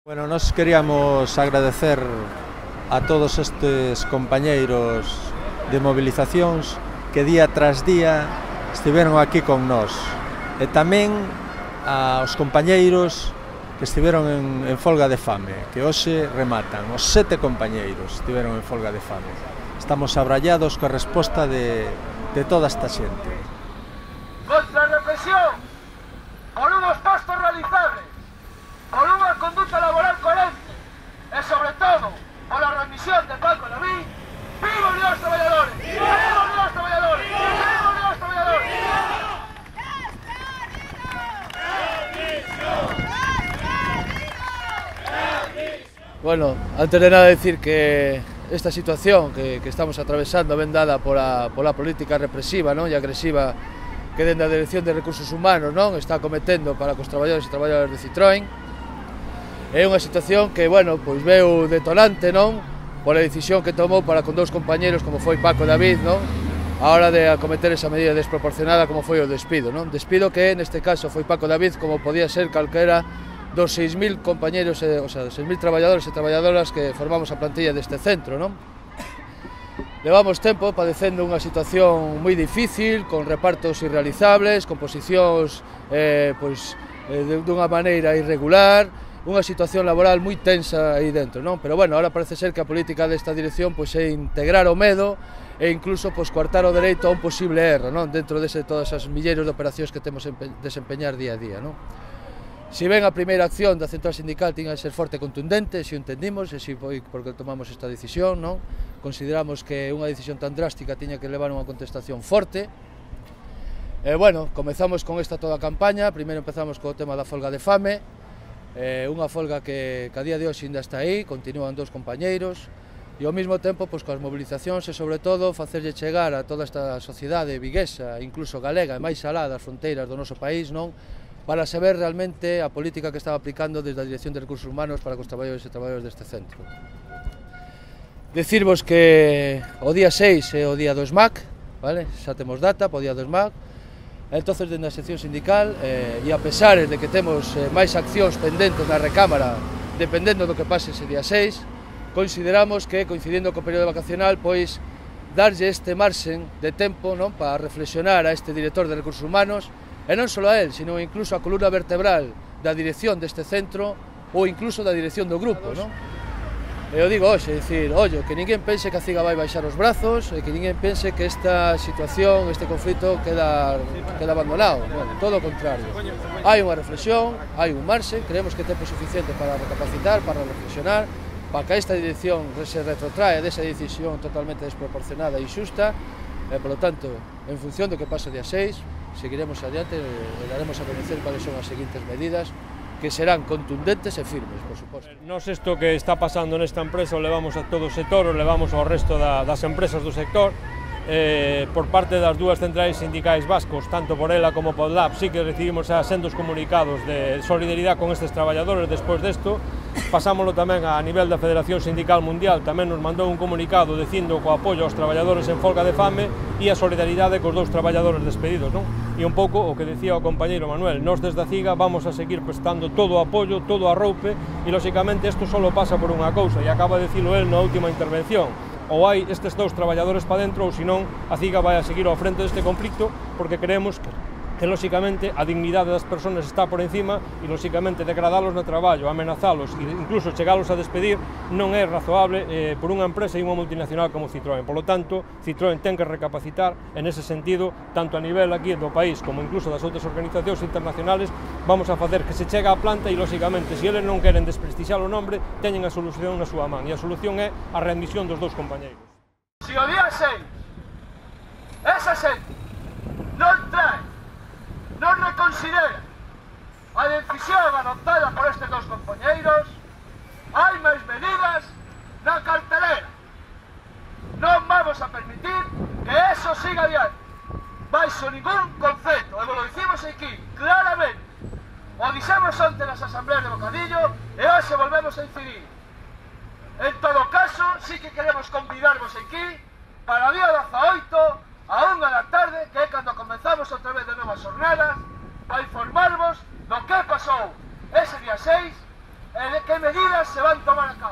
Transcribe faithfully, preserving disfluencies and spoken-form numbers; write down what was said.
Bueno, nos queríamos agradecer a todos estes compañeiros de movilizacións que día tras día estiveron aquí con nós, e tamén aos compañeiros que estiveron en, en folga de fame, que hoxe rematan. Os sete compañeiros estiveron en folga de fame. Estamos abrallados coa resposta de, de toda esta xente. Contra a represión, por unhos postos realizables, por unha conduta laboral coherente e, sobre todo, por a remisión de Paco David. ¡Viva Unión dos Traballadores! ¡Viva Unión dos Traballadores! ¡Viva Unión dos Traballadores! Bueno, antes de nada decir que esta situación que, que estamos atravesando ven dada por a, por a política represiva, non, e agresiva que dende a Dirección de Recursos Humanos non está cometendo para cos traballadores e traballadoras de Citroën. É unha situación que, bueno, pois veu detonante, non, pola decisión que tomou para con dous compañeros como foi Paco David, non, a hora de acometer esa medida desproporcionada como foi o despido, non, despido que neste caso foi Paco David como podía ser calquera dos seis mil compañeros, eh, o sea, seis mil traballadores e traballadoras que formamos a plantilla deste centro, non. Levamos tempo padecendo unha situación moi difícil, con repartos irrealizables, con posicións eh, pois, eh, dunha maneira irregular, unha situación laboral moi tensa aí dentro, non? Pero bueno, ahora parece ser que a política desta dirección pois é integrar o medo e incluso pois coartar o dereito a un posible erro, non? Dentro de todas as milleiros de operacións que temos que desempeñar día a día, non? Si ben a primeira acción da central sindical tiña que ser forte e contundente, se o entendimos, e si foi porque tomamos esta decisión, non? Consideramos que unha decisión tan drástica tiña que levar unha contestación forte. E bueno, comezamos con esta toda a campaña. Primeiro empezamos co tema da folga de fame, eh, unha folga que, que a día de hoxe ainda está aí, continúan dous compañeiros, e ao mesmo tempo pois, coas movilizacións e sobre todo facerlle chegar a toda esta sociedade viguesa, incluso galega e máis alá das fronteiras do noso país, non, para saber realmente a política que estaba aplicando desde a Dirección de Recursos Humanos para cos traballadores e traballadores deste centro. Decirvos que o día seis é o día do S M A C, vale? Xa temos data para o día do S M A C. Entonces, dende a sección sindical, eh, e a pesar de que temos eh, máis accións pendentes na recámara, dependendo do que pase ese día seis, consideramos que, coincidindo co período vacacional, pois, darlle este marxen de tempo, non, para reflexionar a este director de Recursos Humanos, e non só a él, sino incluso a columna vertebral da dirección deste centro ou incluso da dirección do grupo, non? E eu digo hoxe, é dicir, ollo, que ninguén pense que a CIGA vai baixar os brazos e que ninguén pense que esta situación, este conflito queda, queda abandonado. Bueno, todo o contrario. Hai unha reflexión, hai un marxe, creemos que é tempo suficiente para recapacitar, para reflexionar, para que esta dirección se retrotrae desa decisión totalmente desproporcionada e injusta, e, polo tanto, en función do que pase o día seis, seguiremos adiante e daremos a conocer cuáles son as seguintes medidas que serán contundentes e firmes, por suposto. Nos isto que está pasando nesta empresa o levamos a todo o sector, o levamos ao resto da, das empresas do sector. Eh, por parte das dúas centrais sindicais vascos, tanto por ela como por Lab, sí que recibimos a sendos comunicados de solidaridade con estes traballadores despois desto. Pasámoslo tamén a nivel da Federación Sindical Mundial, tamén nos mandou un comunicado dicindo co apoio aos traballadores en folga de fame e a solidaridade cos dous traballadores despedidos, non? E un pouco o que decía o compañeiro Manuel, nós desde a CIGA vamos a seguir prestando todo o apoio, todo o arroupe, e lóxicamente isto só pasa por unha cousa, e acaba de dicilo el na última intervención: ou hai estes dous traballadores para dentro, ou senón a CIGA vai a seguir ao frente deste conflicto, porque creemos que que, lóxicamente, a dignidade das persoas está por encima e, lóxicamente, degradalos no traballo, amenazalos e incluso chegalos a despedir non é razoable eh, por unha empresa e unha multinacional como Citroën. Por lo tanto, Citroën ten que recapacitar en ese sentido, tanto a nivel aquí do país como incluso das outras organizacións internacionales. Vamos a facer que se chega á planta e, lóxicamente, se eles non queren desprestixiar o nombre, teñen a solución na súa man, e a solución é a readmisión dos dous compañeiros. Si o día seis esa xente non trae, non reconsidera a decisión adoptada por estes dos compañeiros, hai máis medidas na cartelera. Non vamos a permitir que eso siga adiante, baixo ningún concepto, e lo dicimos aquí claramente. O dixemos onte nas asambleas de Bocadillo e hoxe volvemos a incidir. En todo caso, sí que queremos convidarvos aquí para o día dezaoito a unha da tarde, que é cando comenzamos outra vez de novas jornadas, para informarvos do que pasou ese día seis ¿qué medidas se van a tomar a cabo?